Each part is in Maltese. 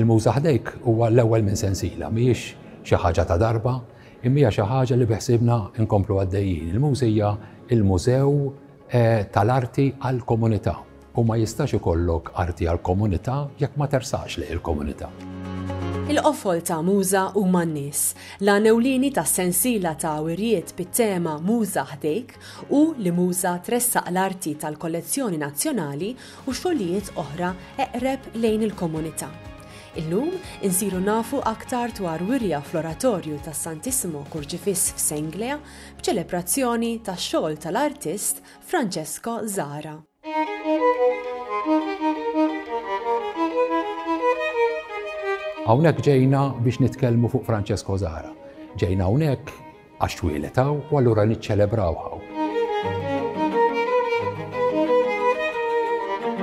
Il-Muża Ħdejk huwa l-ewwel minn sensiela, mhijiex xi ħaġa ta' darba, imma hija xi ħaġa li biħsiebna nkomplu għaddejjin. Il-Muża hija l-mużew eh, tal-arti għall-komunità u ma jistax ikollok arti għall-komunità jekk ma tersaqx lejn il-komunità. Il-qofol ta' Muża huma n-nies. L-għan ewlieni tas-sensiela ta' wirjiet bit-tema Muża Ħdejk hu li Muża tressaq l-arti tal-kollezzjoni nazzjonali u xogħlijiet oħra eqreb lejn il-komunità. Illum insiru nafu aktar dwar wirja fl-Oratorju tas-Santissimo Kurċifiss f'Senglea b'ċelebrazzjoni tax-xogħol tal-artist Francesco Zahra. Hawnhekk ġejna biex nitkellmu fuq Francesco Zahra. Ġejna hawnhekk Għax twieled hawn u allura niċċelebraw hawn.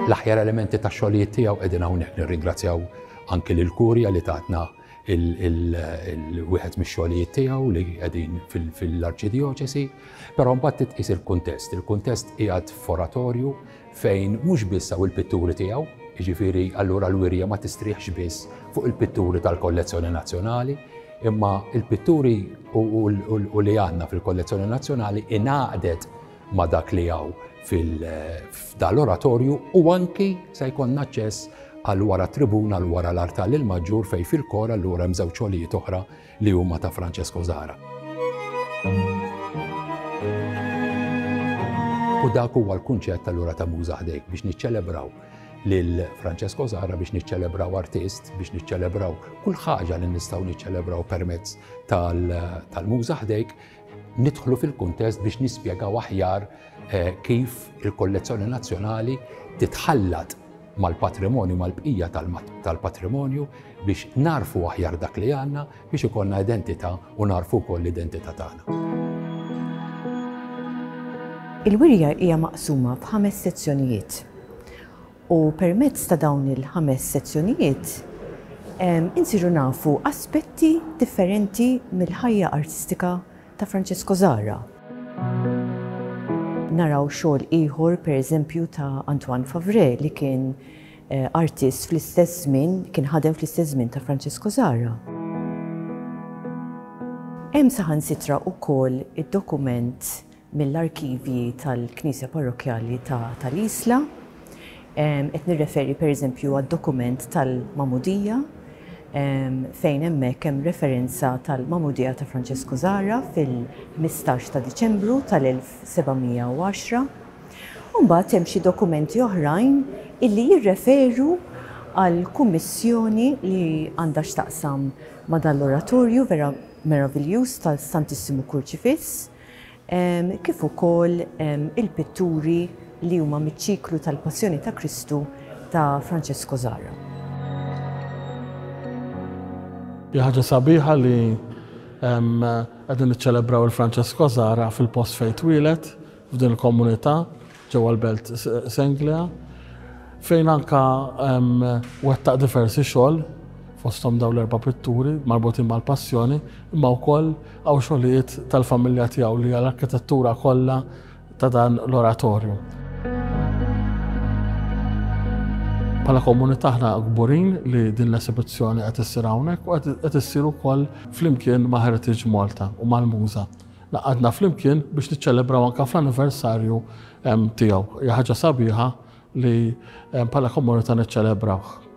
L-aħjar elementi tax-xogħlijiet tiegħu qegħdin hawnhekk. Nirringrazzjaw anki lill-Kurja li tatna il-wieħed mix-xogħlijiet tiegħu li qegħdin fil-Arċidjoċesi. Però mbagħad titqis il-kuntest. Il-kuntest qiegħed f'oratorju fejn mhux biss hawn il-pitturi tiegħu, jiġifieri allura l-wirja ma tistrieħx biss fuq il-pitturi tal-kollezzjoni nazzjonali, imma il-pitturi u li għandna fil-kollezzjoni nazzjonali ingħaqdet ma' dak li hawn f'dal-oratorju u anki se jkollna aċċess għal wara tribuna għal wara l-artal il-maġġur fejn fil-kor allura hemm żewġ xogħlijiet oħra li huma ta' Francesco Zahra. U dak huwa l-kunċett allura ta' Muża Ħdejk biex niċċelebraw lil Francesco Zahra biex niċċelebraw artist, biex niċċelebraw kull ħaġa li nistgħu niċċelebraw permezz tal-Muża Ħdejk, nidħlu fil-kuntest biex nispjegaw aħjar eh, kif il-kollezzjoni nazzjonali titħallat mal-patrimonju, mal-bqija tal-patrimonju biex narfu aħjar dak li għandna biex ikollna identità u narfu wkoll l-identità tagħna. Il-wirja hija maqsuma f'ħames sezzjonijiet u permezz ta' dawn il-ħames sezzjonijiet insiru nafu aspetti differenti mill-ħajja artistika ta' Francesco Zahra. Naraw xogħol ieħor pereżempju ta' Antoine Favre li kien artist fl-istess żmien, kien ħadem fl-istess żmien ta' Francesco Zahra. Hemm saħansitra wkoll id-dokument mill-arkivji tal-Knisja Parrokkjali ta' tal-Isla. Qed nirreferi pereżempju għad-dokument tal-Magħmudija fejn hemmhekk hemm referenza tal-Magħmudija ta' Francesco Zahra fil-15 ta' Diċembru tal-1710. U mbagħad hemm xi dokumenti oħrajn illi jirreferu għal kummissjoni li għandha x'taqsam ma' dan l-oratorju vera meraviljuż tal-Santissimu Kurċifiss, kif ukoll il-pitturi li huma miċ-ċiklu tal-Passjoni ta' Kristu ta' Francesco Zahra. Hija ħaġa sabiħa li qegħdin niċċelebraw il-Francesco Zahra fil-post fejn twieled, f'din il-komunità ġewwa l-belt Senglea, fejn anka wettaq diversi xogħol fosthom dawn l-erba' pitturi marbutin mal-passjoni, imma wkoll hawn xogħlijiet tal-familja tiegħu li hija l-arkitettura kollha ta' dan l-oratorju. Bħala komunità aħna kburin li din l-esibizzjoni qed issir hawnhekk u qed issir ukoll flimkien ma' Heritage Malta u mal-Muża. Ngħaqadna flimkien biex niċċelebraw anke fl-anniversarju tiegħu. Hija ħaġa sabiħa li bħala komunità niċċelebrawh.